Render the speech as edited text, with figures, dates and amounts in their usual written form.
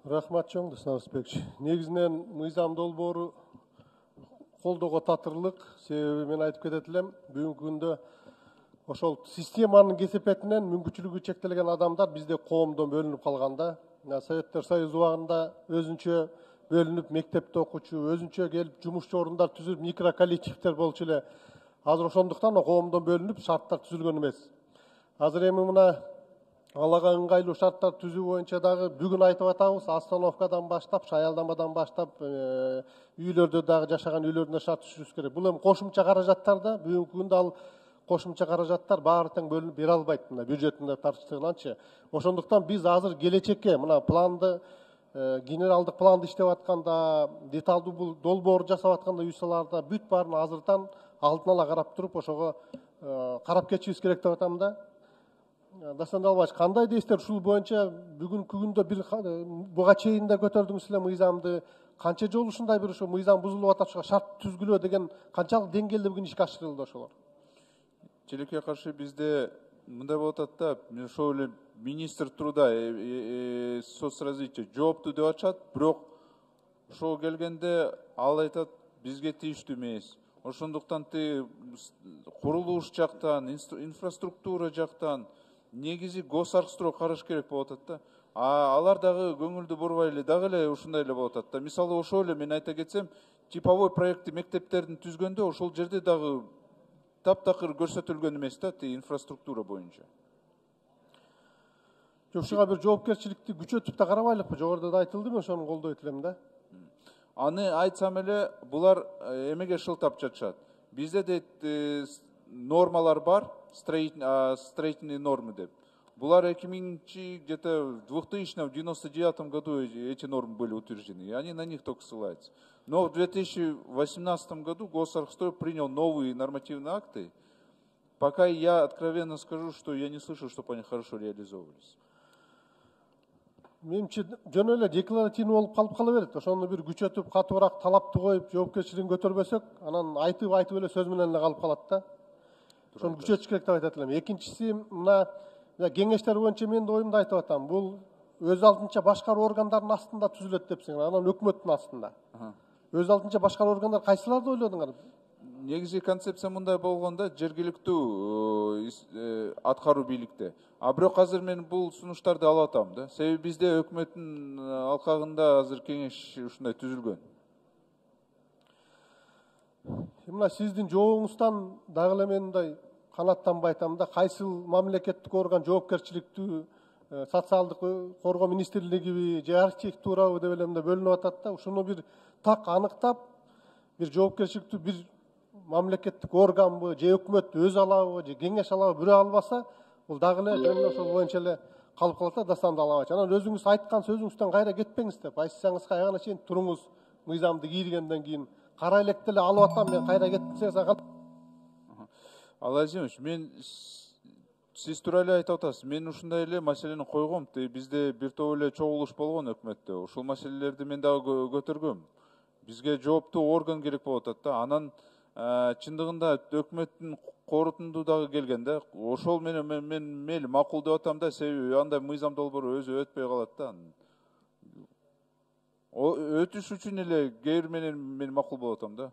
Рахмат чоң Досновбекович. Негизинен мыйзам долбоору колдоого татырлык. Себеби мен айтып кетет элем, бүгүнкү күндө ошол системанын кесепетинен мүмкүнчүлүгү чектелген адамдар бизде коомдон бөлүнүп калганда. Советтер Союзу убагында өзүнчө бөлүнүп мектепте окуучу, өзүнчө келип жумушчу орундар түзүп микроколлективдер болчу эле. Азыр ошондуктан коомдон бөлүнүп шарттар түзүлгөн эмес. Азыр эми мына алага ыңгайлуу шарттар түзүү боюнча дагы бүгүн айтып атабыз, остановкадан баштап, шаялдамадан баштап, үйлөрдө дагы жашаган үйлөрүндө шарт түзүш керек. Бул эми кошумча каражаттар да, бүгүнкү күндө ал кошумча каражаттар баары тең бөлүнүп бере албайт мына бюджеттин тарчылыгынанчы. Ошондуктан биз азыр келечекке мына планды, генералдык планды иштеп атканда, деталдуу бул долбоор жасап атканда үй салаарда бүт баарын азырдан алдын ала карап туруп, ошого карап кетишибиз керек деп атам да. Дастан Далбаевич, кандай дейсиздер ушул боюнча бүгүнкү күндө бир буга чейин да көтөрдүңүз эле мыйзамды, канча жолу ушундай бир ошо мыйзам бузулуп атат, ошого шарт түзгүлө деген канчалык деңгээлде бүгүн ишке ашырылды ошолор? Тилекке каршы бизде мындай болуп атат да, ошол эле министр труда, соцразвития жоопту деп атышат, бирок ошого келгенде ал айтат, бизге тийиштүү эмес. Ошондуктан курулуш жактан, инфраструктура жактан негизи госархстрой караш керек болуп атат да. Алар дагы көңүлдү бурбай эле дагы эле ушундай эле болуп атат да. Мисалы ошол эле мен айта кетсем, типовой проекти мектептердин түзгөндө ошол жерде дагы таптакыр көрсөтүлгөн эмес да, инфраструктура боюнча. Ушуга бир жоопкерчиликти күчөтүп да карабайлыкпы? Жогоруда да айтылды, мен ошону колдойт элем да. Аны айтсам эле, булар эмеге шылтап жатышат. Бизде дейт нормалар бар, строительные нормы деп. Булар 2000 где-то в 2099 году эти нормы были утверждены, и они на них только ссылаются. Но в 2018 году Госархстрой принял новые нормативные акты. Пока я откровенно скажу, что я не слышал, чтобы они хорошо реализовывались. Менимче жөн эле декларативный болуп калып кала берет. Ошону бир күчөтүп, катуураак талапты коюп, жоопкерчилигин көтөрбөсөк, анан айтып эле сөз менен эле калып калат да. Ошону күчөтүш керек деп айтат элем. Экинчиси, мына кеңештер боюнча мен да оюмду айтып атам. Бул өз алдынча башкаруу органдарынын астында түзүлөт депсиңер, анан өкмөттүн астында. Өз алдынча башкаруу органдар кайсыларды ойлодуңар? Негизи концепция мындай болгондо, жергиликтүү аткаруу бийликте. А бирок азыр мен бул сунуштарды алып атам да. Себеби бизде өкмөттүн алкагында азыр кеңеш ушундай түзүлгөн. Мына сиздин жообуңуздан дагы эле мен мындай канаттанбай айтам да, кайсыл мамлекеттик орган жоопкерчиликтүү, социалдык коргоо министрлигиби же архитектурабы деп эле мындай бөлүнүп атат да. Ушуну бир так аныктап, бир жоопкерчиликтүү бир мамлекеттик органбы же өкмөт өз алабы же кеңеш алабы бирөө албаса, бул дагы эле жөн эле ошол боюнча эле калып калат да. Дастан Далбаевич, анан өзүңүз айткан сөзүңүздөн кайра кетпеңиз деп, айсаңыз аягына чейин туруңуз, мыйзамды кийиргенден кийин кара электи эле алып атам, мен кайра кетсеңиз. Алазимович, мен сиз туура эле айтып атасыз. Мен ушундай эле маселени койгом. Бизде бир топ эле чогулуш болгон өкмөттө. Ушул маселелерди мен дагы көтөргөм. Бизге жооптуу орган керек болуп атат да. Анан чындыгында өкмөттүн корутунду дагы келген да. Ошол менен мен мейли макул деп атам да, себеби андай мыйзам долбоору өзү өтпөй калат да. Өтүш үчүн эле кээ бир менен мен макул болуп атам да.